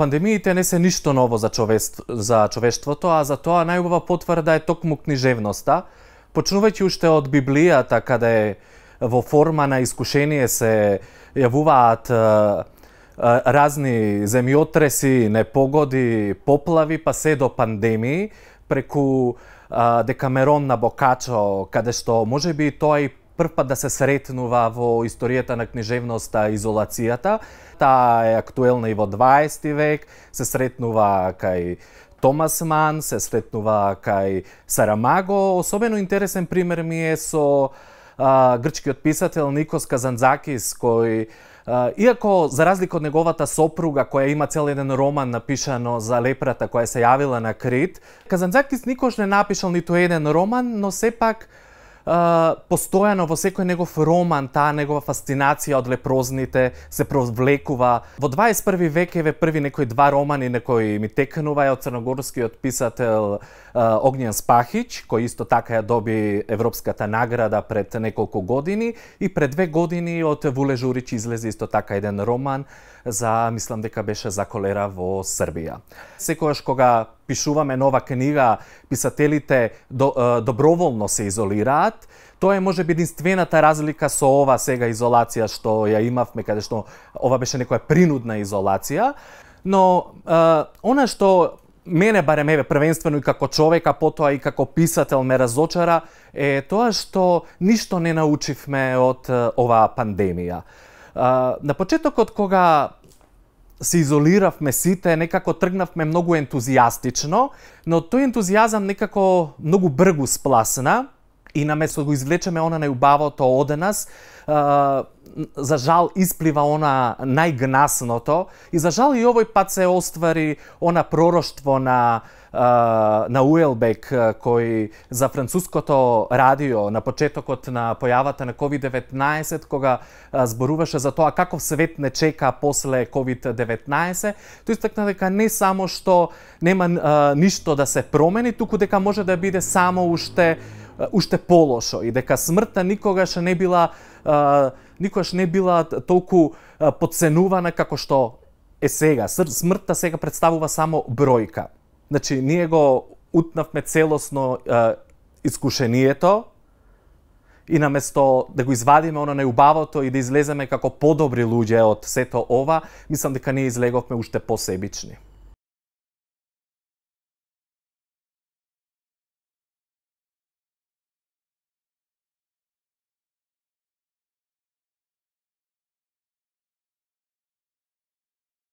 Пандемиите не се ништо ново за човештвото, а за тоа најубава потврда е токму книжевноста. Почнувајќи уште од Библијата, каде во форма на искушение се јавуваат разни земјотреси, непогоди, поплави, па се до пандемии, преку Декамерон на Бокачо, каде што можеби тоа и прв пат да се сретнува во историјата на книжевноста изолацијата. Таа е актуелна и во 20 век, се сретнува кај Томас Ман, се сретнува кај Сарамаго. Особено интересен пример ми е со грчкиот писател Никос Казанцакис, кој иако за разлика од неговата сопруга која има цел еден роман напишано за лепрата која се јавила на Крит, Казанцакис никош не напишал ниту еден роман, но сепак постојано во секој негов роман таа негова фасцинација од лепрозните се провлекува. Во 21 век еве први некои два романи некои ми текнува од црногорскиот писател Огњен Спахич, кој исто така ја доби Европската награда пред неколку години, и пред 2 години од Вуле Журич излезе исто така еден роман за, мислам дека беше за колера во Србија. Секогаш кога пишуваме нова книга, писателите доброволно се изолираат. Тоа е можеби единствената разлика со ова сега изолација што ја имавме, каде што ова беше некоја принудна изолација. Но она што мене барем еве првенствено и како човек, а потоа и како писател ме разочара, е тоа што ништо не научивме од оваа пандемија. На почетокот кога се изолиравме сите, некако тргнавме многу ентузијастично, но тој ентузијазам некако многу бргу спласна и наместо го извлечеме она најубавото од нас, за жал исплива она најгнасното, и за жал и овој пат се оствари она пророштво на Уелбек, кој за француското радио на почетокот на појавата на COVID-19, кога зборуваше за тоа каков свет не чека после COVID-19, тој истакна дека не само што нема ништо да се промени, туку дека може да биде само уште полошо, и дека смртта никогаш не била толку потценувана како што е сега. Смртта сега представува само бројка. Значи, ние го утнавме целосно искушението и наместо да го извадиме оно најубавото и да излеземе како подобри луѓе од сето ова, мислам дека ние излеговме уште посебични.